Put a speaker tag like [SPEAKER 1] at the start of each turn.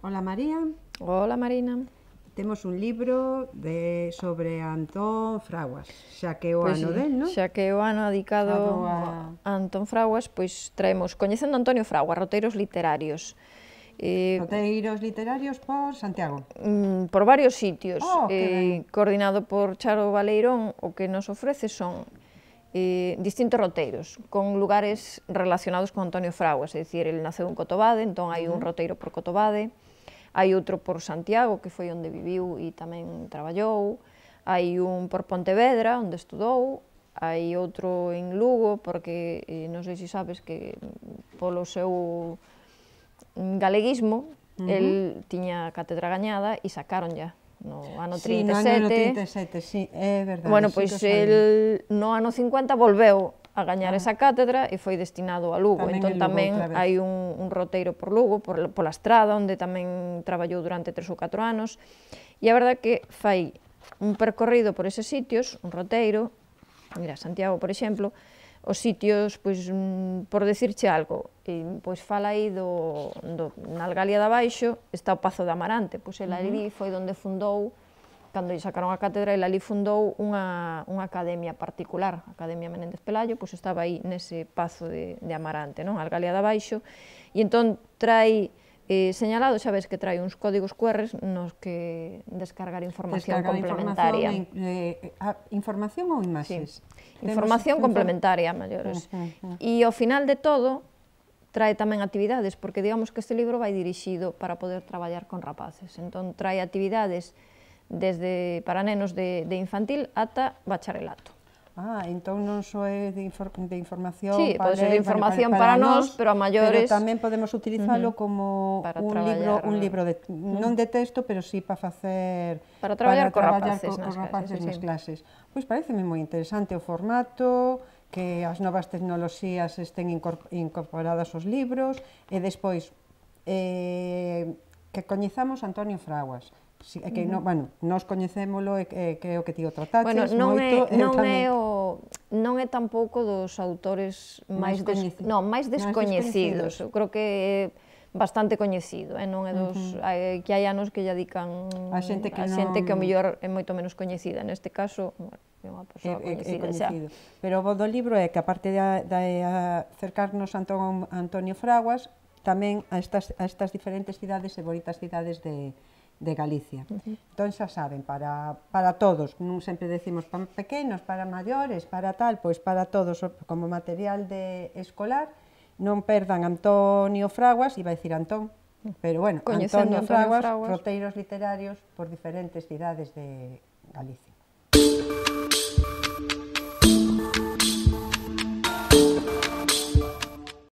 [SPEAKER 1] Hola María,
[SPEAKER 2] Hola Marina.
[SPEAKER 1] temos un libro sobre Antón Fraguas, xa que é o
[SPEAKER 2] Pois
[SPEAKER 1] ano
[SPEAKER 2] sí,
[SPEAKER 1] del, non?
[SPEAKER 2] xa que é o ano dedicado a Antón Fraguas, pois traemos Coñecendo Antonio Fraguas, roteiros literarios.
[SPEAKER 1] Roteiros literarios por Santiago.
[SPEAKER 2] Por varios sitios,
[SPEAKER 1] Oh, que ben.
[SPEAKER 2] coordinado por Charo Baleirón, o que nos ofrece son distintos roteiros, con lugares relacionados con Antonio Fraguas, é dicir, ele naceu en Cotobade, entón hai un roteiro por Cotobade, hai outro por Santiago, que foi onde viviu e tamén traballou, hai un por Pontevedra, onde estudou, hai outro en Lugo, porque non sei se sabes que polo seu galeguismo, el tiña cátedra gañada e sacaronlla no ano 37.
[SPEAKER 1] Sí, no ano 37, sí, é verdade.
[SPEAKER 2] Bueno, pois el no ano 50 volveu a gañar esa cátedra e foi destinado a Lugo. Entón tamén hai un roteiro por Lugo, pola Estrada, onde tamén traballou durante 3 ou 4 anos. E a verdade que fai un percorrido por eses sitios, un roteiro, mira, Santiago, por exemplo, os sitios, pois, por decirche algo, pois fala aí na Algalia de Abaixo, está o Pazo de Amarante, pois el ali foi onde fundou, cando lle sacaron a cátedra, el ali fundou unha academia particular, a Academia Menéndez Pelayo, pois estaba aí nese Pazo de Amarante, non? A Algalia de Abaixo, e entón trai señalado, xa ves que trai uns códigos QR nos que descargar información complementaria.
[SPEAKER 1] Información ou imaxes?
[SPEAKER 2] Información complementaria, maiores. E ao final de todo, trae tamén actividades, porque digamos que este libro vai dirixido para poder traballar con rapaces. Entón, trae actividades desde para nenos de infantil ata bacharelato.
[SPEAKER 1] Entón non só é de información
[SPEAKER 2] sí, pode ser de información para nós, pero a maiores...
[SPEAKER 1] Pero tamén podemos utilizalo como un libro non de texto, pero sí para facer...
[SPEAKER 2] Para traballar con rapaces
[SPEAKER 1] nas clases. Pois pareceme moi interesante o formato, que as novas tecnoloxías estén incorporadas aos libros, e despois que coñezamos Antonio Fraguas. Que, bueno, nós coñecémolo e creo que ti o trataches moito.
[SPEAKER 2] Non é tampouco dos autores máis descoñecidos. Eu creo que é bastante coñecido, non é dos que hai anos que lle dedican a xente que ao mellor é moito menos coñecida. Neste caso, é unha persoa coñecida xa.
[SPEAKER 1] Pero o bo do libro é que, aparte de acercarnos a Antonio Fraguas, tamén a estas diferentes cidades e bonitas cidades de Galicia. Entón xa saben, para todos, non sempre decimos para pequenos, para maiores, para tal, pois para todos, como material escolar, non perdan Antonio Fraguas, iba a dicir Antón, pero bueno, Antonio Fraguas, roteiros literarios por diferentes cidades de Galicia.